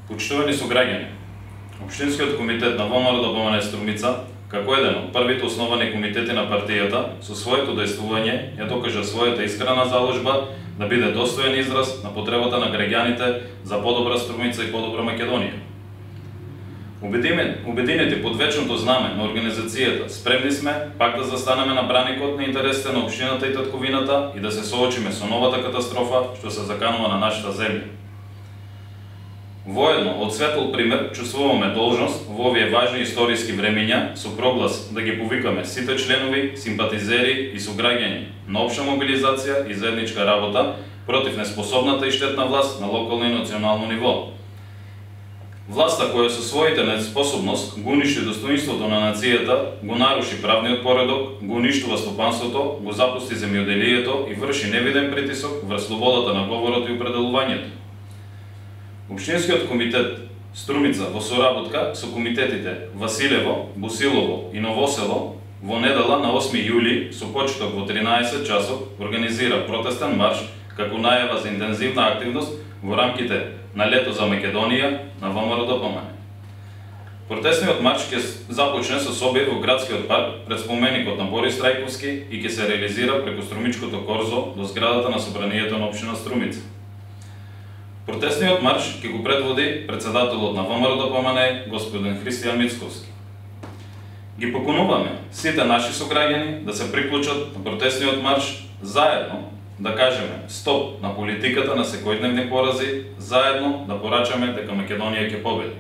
Почитувани сограѓани, Општинскиот комитет на ВМРО Струмица, како еден од првите основани комитети на партијата, со своето дејствување ја докажа својата искрена заложба да биде достоен израз на потребата на граѓаните за подобра Струмица и подобра Македонија. Обединети под вечното знаме на организацијата, спремни сме пак да застанеме на браникот на интересите на општината и татковината и да се соочиме со новата катастрофа што се заканува на нашата земја. Воедно, од светол пример, чувствуваме должност во овие важни историски времиња со проглас да ги повикаме сите членови, симпатизери и сограѓани на општа мобилизација и заедничка работа против неспособната и штетна власт на локално и национално ниво. Власта која со своите неспособност го уништи достоинството на нацијата, го наруши правниот поредок, го уништува стопанството, го запусти земјоделието и врши невиден притисок врз слободата на говорот и определувањето. Општинскиот комитет Струмица во соработка со комитетите Василево, Босилово и Новосело во недела на 8 јули со почеток во 13 часот организира протестен марш како најава за интензивна активност во рамките на Лето за Македонија на ВМРО. Протестниот марш ќе започне со собир во градскиот парк пред споменикот на Борис Трајковски и ќе се реализира преку Струмичкото корзо до зградата на собранието на општина Струмица. Протестниот марш ќе го предводи председателот на ВМРО господин Христијан Мицковски. Ги покануваме сите наши сограѓани да се приклучат на протестниот марш, заедно да кажеме стоп на политиката на секојдневни порази, заедно да порачаме дека Македонија ќе победи.